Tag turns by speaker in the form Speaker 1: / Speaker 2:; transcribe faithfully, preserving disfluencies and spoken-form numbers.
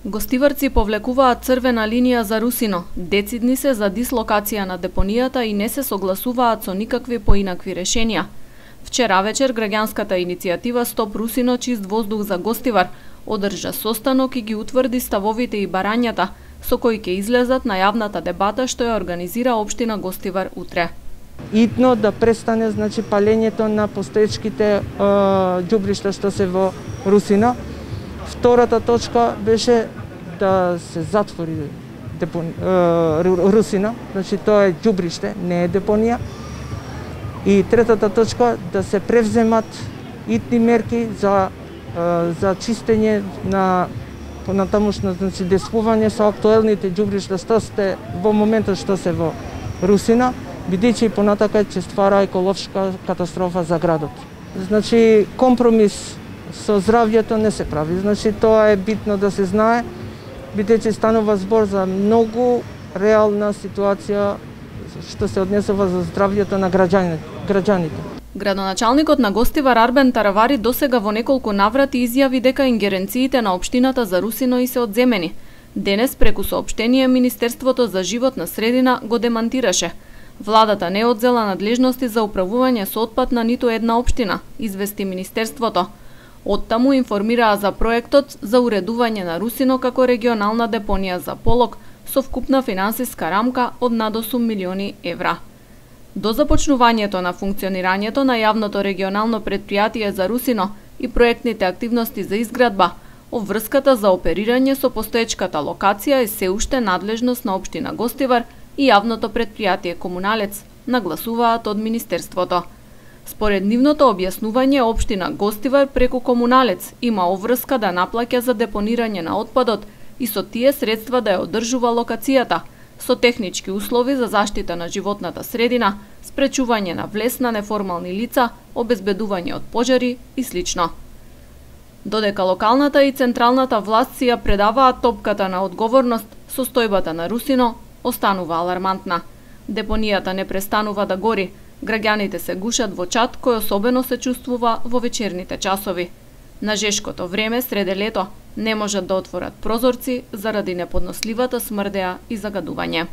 Speaker 1: Гостиварци повлекуваат црвена линија за Русино. Децидни се за дислокација на депонијата и не се согласуваат со никакви поинакви решенија. Вчера вечер граѓанската иницијатива Стоп Русино чист воздух за Гостивар одржа состанок и ги утврди ставовите и барањата со кои ќе излезат на јавната дебата што ја организира општина Гостивар утре.
Speaker 2: Итно да престане значи палењето на постоечките ѓубришта што се во Русино. Втората точка беше да се затвори депон... Русино, значи тоа е ѓубриште, не е депонија. И третата точка да се превземат итни мерки за за чистење на понатамошно значи деспување со актуелните ѓубришта што сте во моментот што се во Русино, бидејќи и понатака ќе ствара еколошка катастрофа за градот. Значи компромис со здравјето не се прави. Значи тоа е битно да се знае, бидејќи станува збор за многу реална ситуација што се однесува за здравјето на граѓаните.
Speaker 1: Градоначалникот на Гостивар Арбен Таравари досега во неколку наврати изјави дека ингеренциите на општината за Русино и се одземени. Денес преку соопштение Министерството за животна средина го демантираше. Владата не одзела надлежности за управување со отпад на ниту една општина, извести Министерството. Оттаму информираа за проектот за уредување на Русино како регионална депонија за полог со вкупна финансиска рамка од над осум милиони евра. До започнувањето на функционирањето на јавното регионално претпријатие за Русино и проектните активности за изградба, обврската за оперирање со постоечката локација е се уште надлежност на општина Гостивар и јавното претпријатие Комуналец, нагласуваат од Министерството. Според нивното објаснување, општина Гостивар преку Комуналец има обврска да наплаќа за депонирање на отпадот и со тие средства да ја одржува локацијата, со технички услови за заштита на животната средина, спречување на влез на неформални лица, обезбедување од пожари и слично. Додека локалната и централната власт си ја предаваат топката на одговорност, состојбата на Русино останува алармантна. Депонијата не престанува да гори, граѓаните се гушат во чад кој особено се чувствува во вечерните часови. На жешкото време среде лето не можат да отворат прозорци заради неподносливата смрдеа и загадување.